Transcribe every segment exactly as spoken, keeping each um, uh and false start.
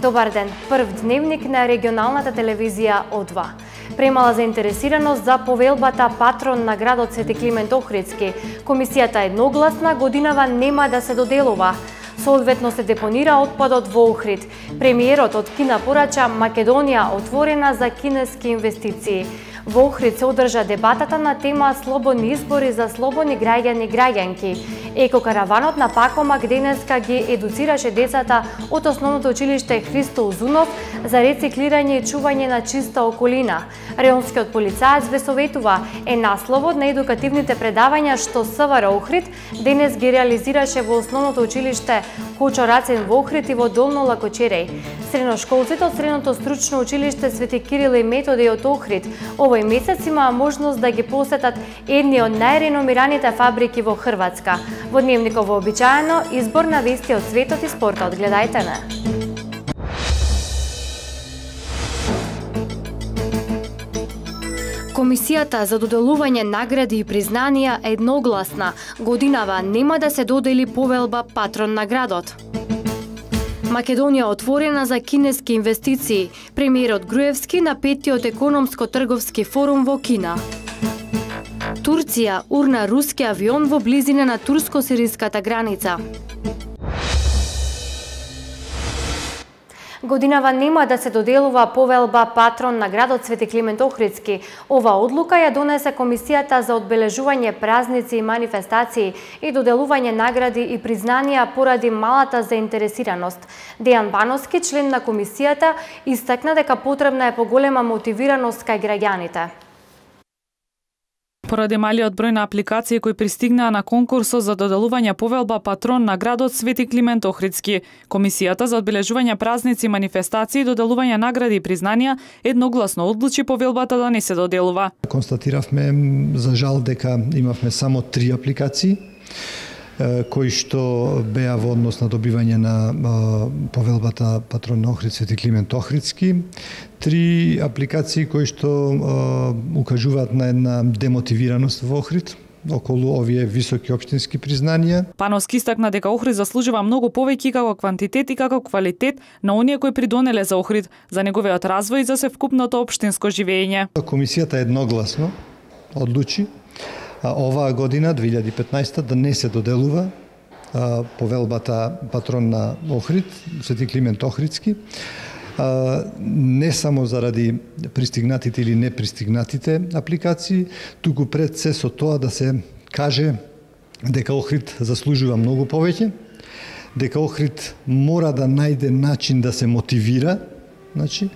Добар ден, прв дневник на регионалната телевизија О два. Премала заинтересираност за повелбата патрон на градот Свети Климент Охридски. Комисијата едногласна годинава нема да се доделува. Соодветно се депонира отпадот во Охрид. Премиерот од Кина порача Македонија отворена за кинески инвестиции. Во Охрид се одржа дебатата на тема слободни избори за слободни граѓани и граѓанки. Екокараванот на Пакомак денеска ги едуцираше децата од основното училиште Христо Узунов за рециклирање и чување на чиста околина. Реонскиот полицаец ве советува е насловот на едукативните предавања што СВР Охрид денес ги реализираше во основното училиште Кочо Рацин во Охрид и во Долно Лакочереј. Средношколците од Средното стручно училиште Свети Кирил и Методи од Охрид овој месец имаа можност да ги посетат едни од најреномираните фабрики во Хрватска. Во дневникот вообичаено избор на вести од светот и спортот. Гледајте не. Комисијата за доделување награди и признанија е едногласна. Годинава нема да се додели повелба патрон на градот. Македонија отворена за кинески инвестиции. Премиерот Груевски на петтиот економско-трговски форум во Кина. Турција урна руски авион во близина на турско-сириската граница. Годинава нема да се доделува повелба патрон на градот Свети Климент Охридски. Ова одлука ја донесе Комисијата за одбележување празници и манифестации и доделување награди и признанија поради малата заинтересираност. Дејан Бановски, член на Комисијата, истакна дека потребна е поголема мотивираност кај граѓаните. Поради малиот број на апликации кои пристигнаа на конкурсот за доделување повелба патрон на градот Свети Климент Охридски, Комисијата за одбележување празници и манифестации и доделување награди и признанија едногласно одлучи повелбата да не се доделува. Констатиравме за жал дека имавме само три апликации кои што беа во однос на добивање на повелбата патрон на Охрид Свети Климент Охридски. Три апликации кои што укажуваат на една демотивираност во Охрид околу овие високи општински признанија. Пановски истакна дека Охрид заслужува многу повеќе како квантитет и како квалитет на оние кои придонеле за Охрид, за неговиот развој и за севкупното општинско живење. Комисијата едногласно одлучи оваа година, две илјади и петнаесета, да не се доделува а, повелбата патрон на Охрид, Свети Климент Охридски, а, не само заради пристигнатите или непристигнатите апликации, туку пред се со тоа да се каже дека Охрид заслужува многу повеќе, дека Охрид мора да најде начин да се мотивира, значи,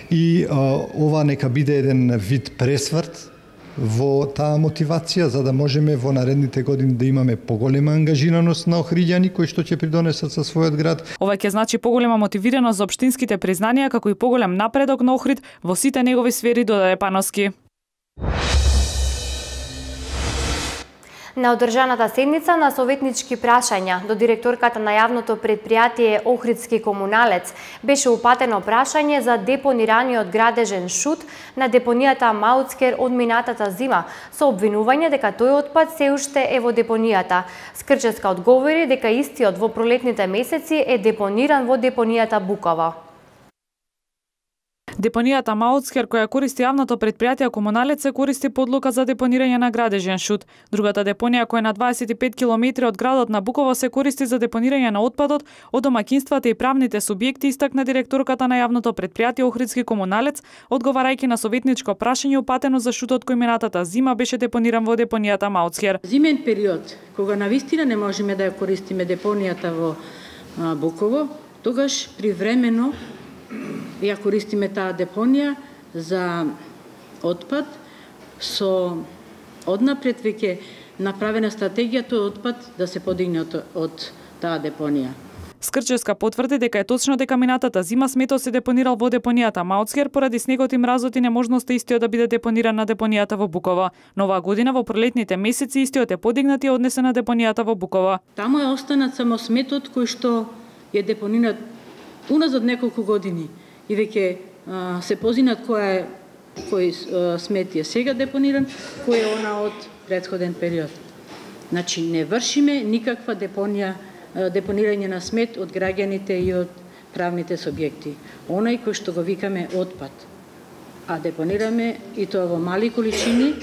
и а, ова нека биде еден вид пресврт во таа мотивација, за да можеме во наредните години да имаме поголема ангажираност на охриѓани кои што ќе придонесат со својот град. Ова ќе значи поголема мотивираност за општинските признанија, како и поголем напредок на Охрид во сите негови сфери, додаде Пановски. На одржаната седница на советнички прашања до директорката на јавното предпријатие Охридски комуналец беше упатено прашање за депонираниот градежен шут на депонијата Мауцкер од минатата зима, со обвинување дека тој отпад се уште е во депонијата. Скрческа одговори дека истиот во пролетните месеци е депониран во депонијата Буково. Депонијата Мауцкер, која користи јавното предпријатие Комуналец, се користи по одлука за депонирање на градежен шут. Другата депонија, која е на дваесет и пет километри од градот на Буково, се користи за депонирање на отпадот од домаќинствата и правните субјекти, истакна директорката на јавното предпријатие Охридски Комуналец, одговарајќи на советничко прашање упатено за шутот кој минатата зима беше депониран во депонијата Мауцкер. Зимен период, кога навистина не можеме да ја користиме депонијата во Буково, тогаш привремено ја користиме таа депонија за отпад, со однапред веќе направена стратегија тој отпад да се подигне од, од таа депонија. Скрческа потврди дека е точно дека минатата зима сметот се депонирал во депонијата Мауцкер поради снегот и мразот и неможноста истиот да биде депониран на депонијата во Буково. Но оваа година во пролетните месеци истиот е подигнат и однесен на депонијата во Буково. Таму е останат само сметот кој што е депониран уназад неколку години и веќе се позинат која е кој а, смет е сега депониран, кој е она од претходен период. Значи не вршиме никаква депонија, депонирање на смет од граѓаните и од правните субјекти. Онај кој што го викаме отпад, а депонираме и тоа во мали количини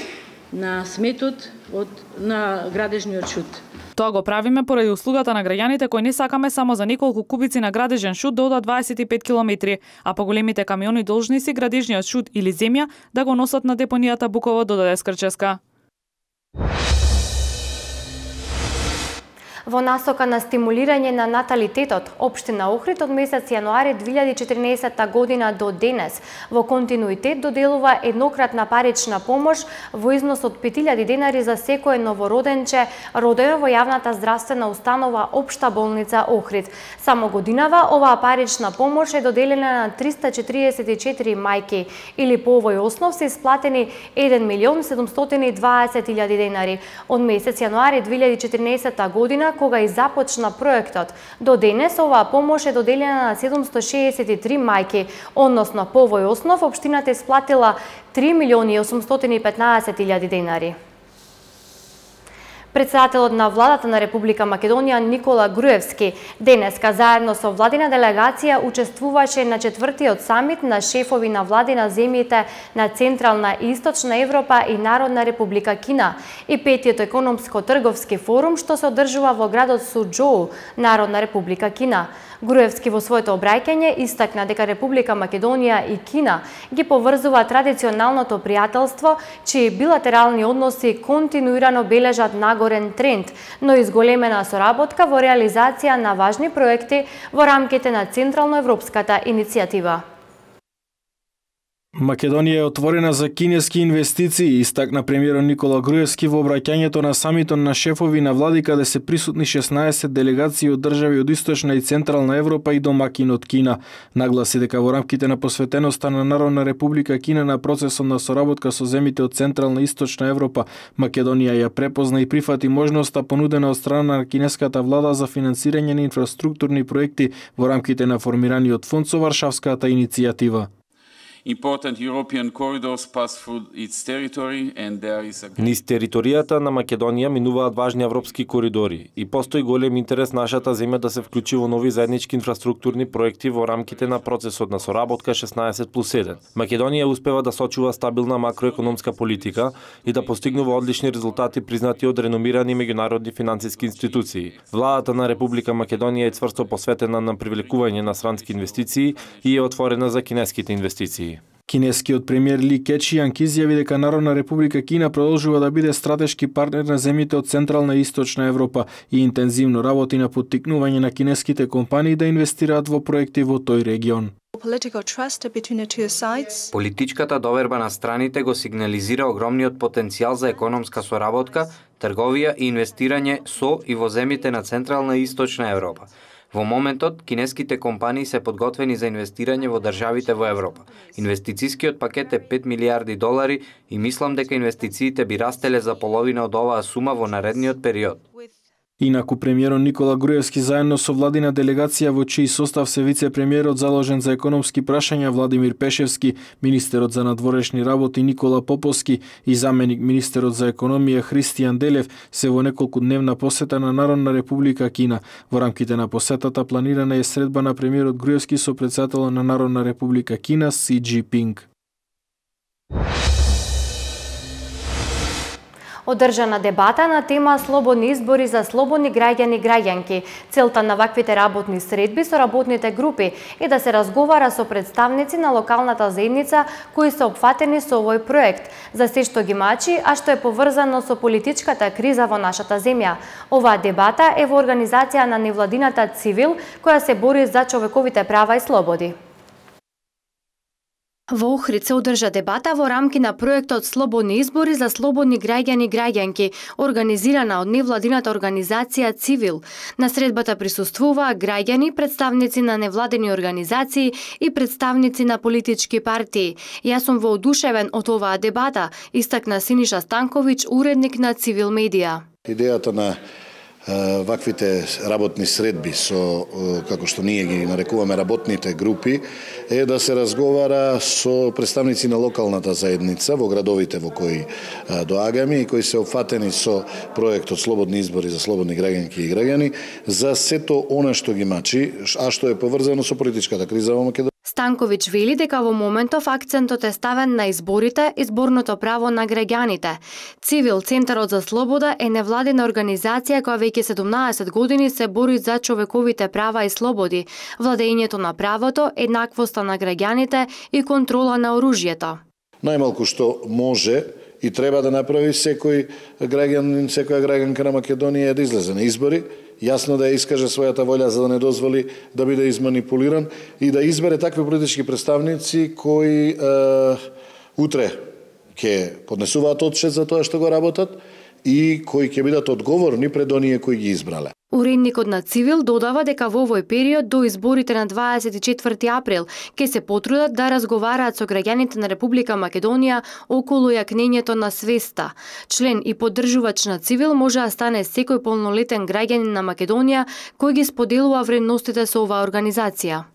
на сметот од на градежниот шут. Тоа го правиме поради услугата на граѓаните кои не сакаме само за неколку кубици на градежен шут да одат дваесет и пет километри, а поголемите камиони должни си градежниот шут или земја да го носат на депонијата Буково, додаде Скрческа. Во насока на стимулирање на наталитетот, општина Охрид од месец јануари две илјади и четирнаесетта година до денес во континуитет доделува еднократна парична помош во износ од пет илјади денари за секое новороденче родено во јавната здравствена установа Општа болница Охрид. Само годинава оваа парична помош е доделена на триста четириесет и четири мајки или по овој основ се исплатени еден милион седумстотини и дваесет илјади денари. Од месец јануари две илјади и четирнаесетта година кога и започна проектот. До денес оваа помош е доделена на седумсто шеесет и три мајки, односно по овој основ општината исплатила три милиони осумстотини и петнаесет илјади денари. Председателот на владата на Република Македонија Никола Груевски денеска заедно со владина делегација учествуваше на четвртиот самит на шефови на влади на земјите на Централна и Источна Европа и Народна Република Кина и петиот економско-трговски форум што се одржува во градот Суџоу, Народна Република Кина. Груевски во своето обраќање истакна дека Република Македонија и Кина ги поврзува традиционалното пријателство, чии билатерални односи континуирано бележат нагорен тренд, но изголемена соработка во реализација на важни проекти во рамките на Централноевропската иницијатива. Македонија е отворена за кинески инвестиции, истакна премиерот Никола Груевски во обраќањето на самитот на шефови на влади каде се присутни шеснаесет делегации од држави од Источна и Централна Европа и домакин од Кина. Нагласи дека во рамките на посветеноста на Народна Република Кина на процесот на соработка со земјите од Централна и Источна Европа, Македонија ја препозна и прифати можноста понудена од страна на кинеската влада за финансирање на инфраструктурни проекти во рамките на формираниот фонд со Варшавската иницијатива. Important European corridors pass through its territory and there is a... Низ територијата на Македонија минуваат важни европски коридори и постои голем интерес нашата земја да се вклучи во нови заеднички инфраструктурни проекти во рамките на процесот на соработка шеснаесет плюс еден. Македонија успева да сочува стабилна макроекономска политика и да постигнува одлични резултати признати од реномирани меѓународни финансиски институции. Владата на Република Македонија е цврсто посветена на привлекување на странски инвестиции и е отворена за кинеските инвестиции. Кинескиот премиер Ли Кечијанг изјави дека Народна Република Кина продолжува да биде стратешки партнер на земјите од Централна и Источна Европа и интензивно работи на поттикнување на кинеските компании да инвестираат во проекти во тој регион. Политичката доверба на страните го сигнализира огромниот потенцијал за економска соработка, трговија и инвестирање со и во земјите на Централна и Источна Европа. Во моментот, кинеските компании се подготвени за инвестирање во државите во Европа. Инвестицискиот пакет е пет милиарди долари и мислам дека инвестициите би растеле за половина од оваа сума во наредниот период. Инаку премиерот Никола Груевски заедно со владина делегација во чиј состав се вице-премиерот заложен за економски прашања Владимир Пешевски, министерот за надворешни работи Никола Поповски и заменик министерот за економија Христијан Делев се во неколкудневна посета на Народна Република Кина. Во рамките на посетата планирана е средба на премиерот Груевски со претседателот на Народна Република Кина Си Џинпинг. Одржана дебата на тема слободни избори за слободни граѓани и граѓанки. Целта на ваквите работни средби со работните групи е да се разговара со представници на локалната заедница кои се опфатени со овој проект, за се што ги мачи, а што е поврзано со политичката криза во нашата земја. Оваа дебата е во организација на невладината Цивил, која се бори за човековите права и слободи. Во Охрид се одржа дебата во рамки на проектот Слободни избори за слободни граѓани и граѓанки, организирана од невладината организација Цивил. На средбата присуствуваа граѓани, представници на невладени организации и представници на политички партии. Јас сум воодушевен од оваа дебата, истакна Синиша Станковиќ, уредник на Цивил медија. Идејата на ваквите работни средби со, како што ние ги нарекуваме работните групи, е да се разговара со представници на локалната заедница во градовите во кои доаѓаме и кои се опфатени со проектот Слободни избори за слободни граѓанки и граѓани, за сето она што ги мачи, а што е поврзано со политичката криза во Македонија. Станковиќ вели дека во моментов акцентот е ставен на изборите, изборното право на граѓаните. Цивил, Центарот за слобода, е невладина организација која веќе седумнаесет години се бори за човековите права и слободи, владењето на правото, еднаквоста на граѓаните и контрола на оружјето. Најмалку што може и треба да направи секој граѓанин, секоја граѓанка на Македонија е да излезе на избори, јасно да ја искаже својата волја за да не дозволи да биде изманипулиран и да избере такви политички представници кои е, утре ќе поднесуваат отчет за тоа што го работат и кои ќе бидат одговорни пред оние кои ги избрале. Уредникот на Цивил додава дека во овој период до изборите на дваесет и четврти април ќе се потрудат да разговараат со граѓаните на Република Македонија околу јакнењето на свеста. Член и поддржувач на Цивил може да стане секој полнолетен граѓанин на Македонија кој ги споделува вредностите со оваа организација.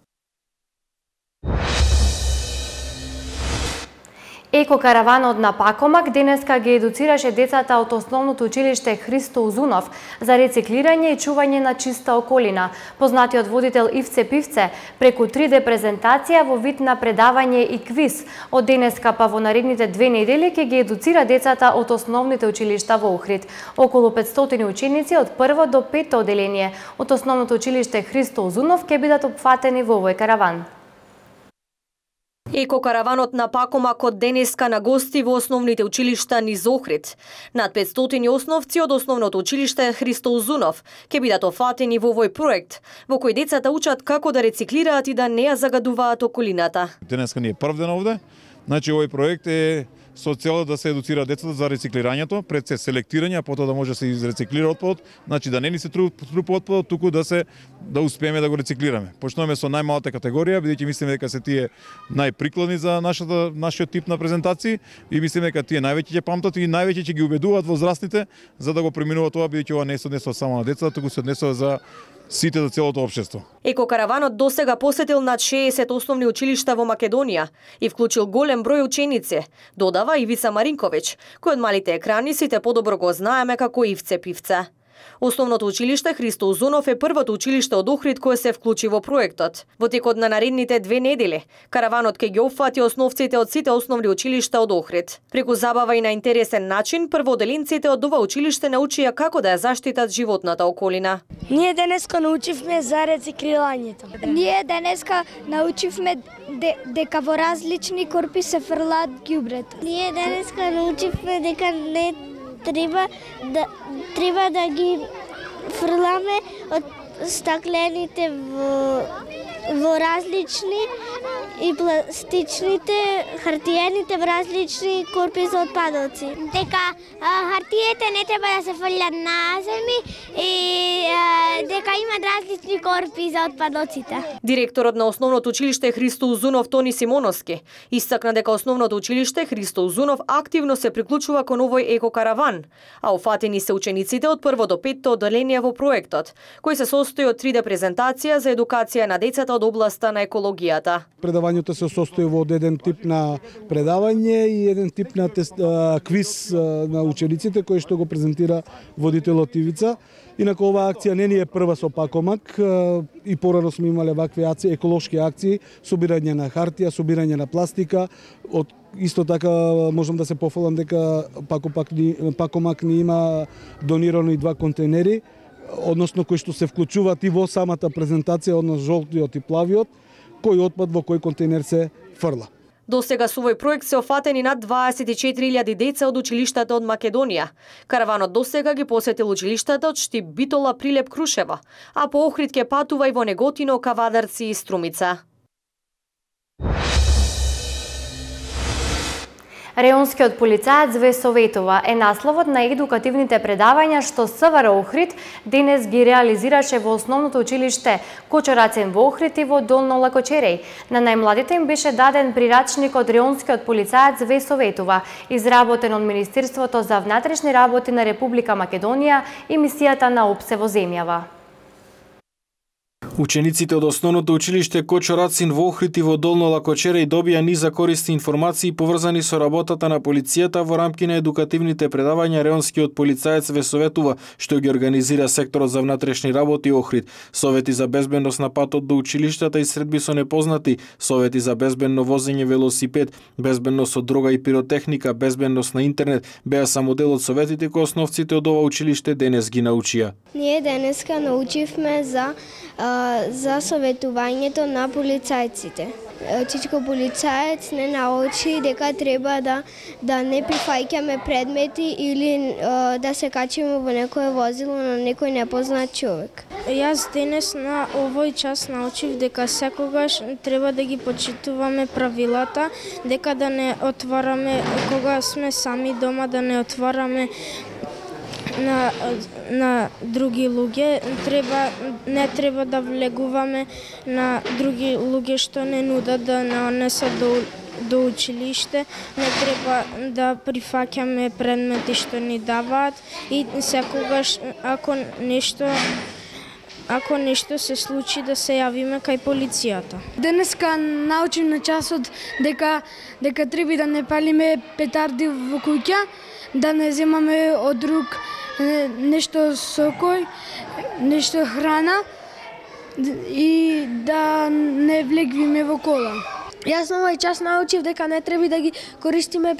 Екокараванот на Пакомак денеска ги едуцираше децата од основното училиште Христо Узунов за рециклирање и чување на чиста околина. Познатиот водител Ивце Пивце преку три де презентација во вид на предавање и квиз. Од денеска па во наредните две недели ќе ги едуцира децата од основните училишта во Охрид. Околу петстотини ученици од прво до пето оделение од основното училиште Христо Узунов ќе бидат опфатени во овој караван. Екокараванот на Пакомак од денеска на гости во основните училишта низ Охрид. Над петстотини основци од основното училиште Христо Узунов ќе бидат офатени во овој проект, во кој децата учат како да рециклираат и да не ја загадуваат околината. Денеска ни е прв ден овде. Значи овој проект е со цел да се едуцира децата за рециклирањето, пред се селектирање, а потоа да може да се изрециклира отпадот, значи да не ни се трупа отпадот, туку да се да успееме да го рециклираме. Почнуваме со најмалата категорија, бидејќи мислиме дека се тие најприкладни за нашата нашиот тип на презентации и мислиме дека тие највеќе ќе памтат и највеќе ќе ги убедуваат возрастните за да го преминуваат тоа, бидејќи ова не се однесува само на децата, туку се однесува за сите за целото општество. Екокараванот досега посетил над шеесет основни училишта во Македонија и вклучил голем број ученици, додава Ивица Маринковиќ, кој од малите екрани сите подобро го знаеме како Ивце Пивце. Основното училиште Христо Узунов е првото училиште од Охрид кое се вклучи во проектот. Во текот на наредните две недели, караванот ќе ги опфати основците од сите основни училишта од Охрид. Преку забава и на интересен начин, првооделенците од ова училиште научија како да ја заштитат животната околина. Ние денеска научивме за рециклирањето. Ние денеска научивме де, дека во различни корпи се фрлаат ѓубрето. Ние денеска научивме дека не треба да треба да ги фрламе од стаклените во во различни и пластичните, хартиените во различни корпи за отпадоци. Дека а, хартиите не треба да се фрлат на земји и а, дека имат различни корпи за отпадоците. Директорот на основното училиште Христо Узунов Тони Симоновски истакна дека основното училиште Христо Узунов активно се приклучува кон овој екокараван, а офатени се учениците од прво до петто оделение во проектот, кој се состои од три де презентација за едукација на децата од областа на екологијата. Предавањето се состои во еден тип на предавање и еден тип на тест, а, квиз а, на учениците кој што го презентира водителот Ивица. Инаку оваа акција не ни е прва со Пакомак, а, и порано сме имале вакви акции, еколошки акции, собирање на хартија, собирање на пластика. Од исто така можам да се пофалам дека Пакомак ни, Пакомак ни има донирано и два контейнери, односно кои што се вклучуваат и во самата презентација, односно жолтиот и плавиот, кој отпад во кој контейнер се фрла. До сега со овој проект се офатени над дваесет и четири илјади деца од училиштата од Македонија. Караванот до сега ги посетил училиштата од Штип, Битола, Прилеп, Крушево, а по Охрид ќе патува и во Неготино, Кавадарци и Струмица. Реонскиот полицаец ве советува е насловот на едукативните предавања што СВР Охрид денес ги реализираше во основното училиште Кочо Рацин во Охрид и во Долно Лакочереј. На најмладите им беше даден прирачник од Реонскиот полицаец ве советува, изработен од Министерството за внатрешни работи на Република Македонија и мисијата на ОПСЕ во земјава. Учениците од основното училиште Кочо Рацин во Охрид и во Долно Лакочереј добија низ за корисни информации поврзани со работата на полицијата во рамки на едукативните предавања Реонскиот полицаец ве советува, што ги организира секторот за внатрешни работи Охрид. Совети за безбедност на патот до училиштата и средби со непознати, совети за безбедно возење велосипед, безбедност од дрога и пиротехника, безбедност на интернет беа само дел од советите кои основците од ова училиште денес ги научија. Ние денеска научивме за за советувањето на полицајците. Чичко полицаец не научи дека треба да да не прифаќаме предмети или да се качиме во некое возило на некој непознат човек. Јас денес на овој час научив дека секогаш треба да ги почитуваме правилата, дека да не отвараме кога сме сами дома, да не отвараме на на други луѓе, треба не треба да влегуваме на други луѓе што не нудат да нанесат до до училиште, не треба да прифаќаме предмети што ни даваат и секогаш ако нешто ако нешто се случи да се јавиме кај полицијата. Денеска научим на часот дека дека треба да не палиме петарди во куќа, да не земаме од друг нешто сокој, нешто храна и да не влегвиме во кола. Јас на овој час научив дека не треба да ги користиме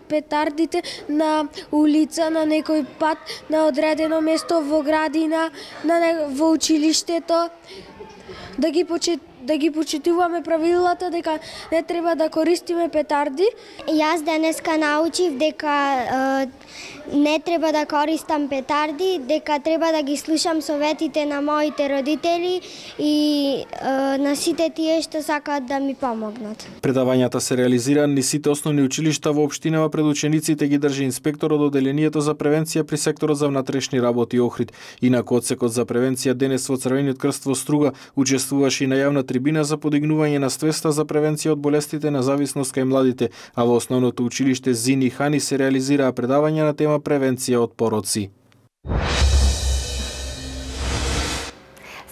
петардите на улица, на некој пат, на одредено место во градина, на во училиштето, да ги почит да ги почитуваме правилата дека не треба да користиме петарди. Јас денеска научив дека е, не треба да користам петарди, дека треба да ги слушам советите на моите родители и е, на сите тие што сакаат да ми помогнат. Предавањата се реализираат низ сите основни училишта во општинава, пред учениците ги држи инспектор од Оделението за превенција при секторот за внатрешни работи Охрид. Инаку одсекот за превенција денес во Црвениот крст во Струга учествуваше и на јавна трибина за подигнување на свеста за превенција од болестите на зависност кај младите, а во основното училиште Зини Хани се реализираа предавања на тема превенција од пороци.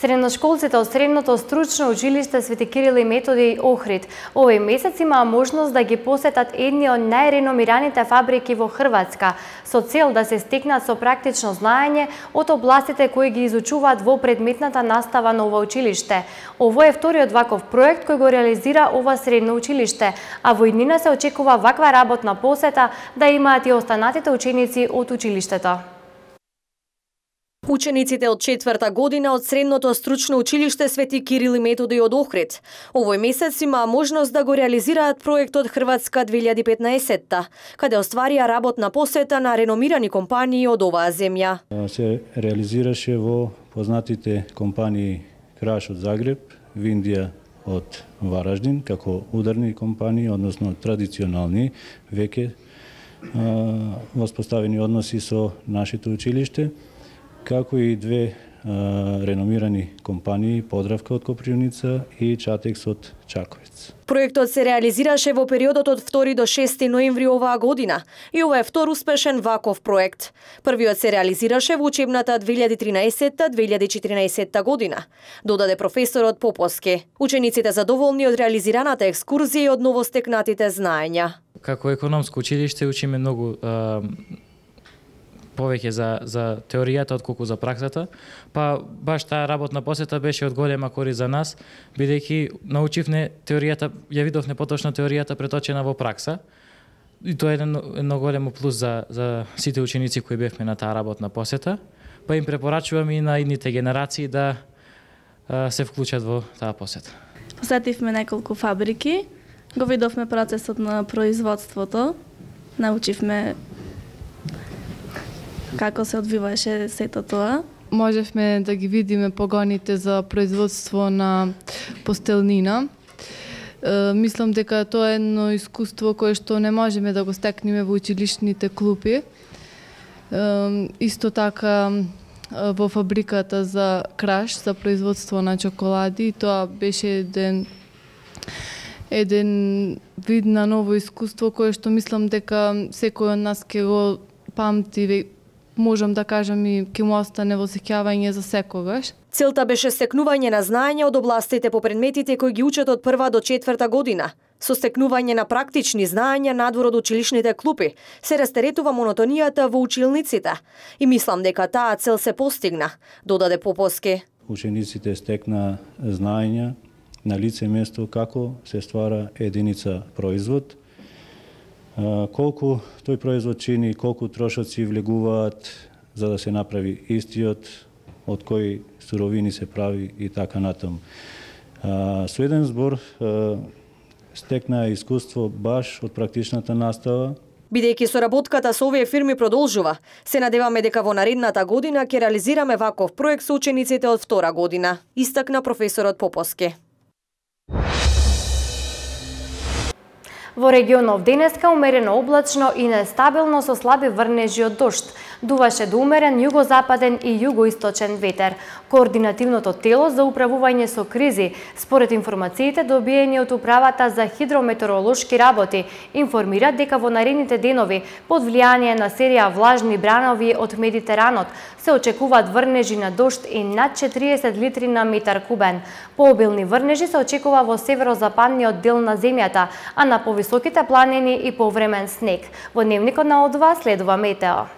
Средношколците од Средното стручно училиште Свети Кирил и Методи Охрид овој месец имаа можност да ги посетат едни од најреномираните фабрики во Хрватска, со цел да се стекнат со практично знаење од областите кои ги изучуваат во предметната настава на ова училиште. Ово е вториот ваков проект кој го реализира ова средно училиште, а во иднина се очекува ваква работна посета да имаат и останатите ученици од училиштето. Учениците од четврта година од Средното стручно училиште Свети Кирил и Методи од Охрид овој месец имаа можност да го реализираат проектот Хрватска две илјади и петнаесетта, каде остварија работна посета на реномирани компании од оваа земја. Се реализираше во познатите компании Краш од Загреб, Виндија од Вараждин, како ударни компании, односно традиционални, веќе воспоставени односи со нашето училиште, како и две а, реномирани компании, Подравка од Копривница и Чатекс од Чаковец. Проектот се реализираше во периодот од втори до шести ноември оваа година и ова е втор успешен ваков проект. Првиот се реализираше во учебната две илјади и тринаесетта две илјади и четиринаесетта година, додаде професорот Поповски. Учениците задоволни од реализираната екскурзија и од новостекнатите знаења. Како економско училиште учиме многу а... повеќе за за теоријата отколку за праксата, па баш таа работна посета беше од голема корист за нас, бидејќи научивме теоријата, ја видовме поточно теоријата преточена во пракса. И тоа е едно, едно големо плюс за за сите ученици кои бевме на таа работна посета, па им препорачувам и на идните генерации да а, се вклучат во таа посета. Посетивме неколку фабрики, го видовме процесот на производството, научивме како се одвиваше сето тоа. Можевме да ги видиме погоните за производство на постелнина Мислам дека тоа е едно искуство кое што не можеме да го стекнеме во училишните клупи. Исто така во фабриката за краш, за производство на чоколади, тоа беше еден еден вид на ново искуство кое што мислам дека секој од нас ќе го памти, можам да кажам и ќе му остане во сеќавање за секогаш. Целта беше стекнување на знаење од областите по предметите кои ги учат од прва до четврта година. Со стекнување на практични знаења надвор од училишните клупи се растеретува монотонијата во училниците. И мислам дека таа цел се постигна, додаде Поповски. Учениците стекна знаења на лице место како се ствара единица производ, колку тој производ чини, колку трошоци влегуваат за да се направи истиот, од кои суровини се прави и така натаму. Со еден збор стекна искуство баш од практичната настава. Бидејќи соработката со овие фирми продолжува, се надеваме дека во наредната година ќе реализираме ваков проект со учениците од втора година, истакна професорот Поповски. Во регионов денеска умерено облачно и нестабилно со слаби врнежи од дожд. Дуваше до умерен југозападен и југоисточен ветер. Координативното тело за управување со кризи, според информациите добиени од Управата за хидрометеоролошки работи, информира дека во наредните денови, под влијание на серија влажни бранови од Медитеранот, се очекуваат врнежи на дожд и над четириесет литри на метар кубен. Пообилни врнежи се очекува во северозападниот дел на земјата, а на повисоките планини и повремен снег. Во дневникот на О два следува метео.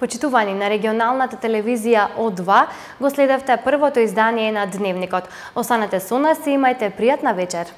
Почитувани, на регионалната телевизија О два го следевте првото издание на Дневникот. Останете со нас и имајте пријатна вечер.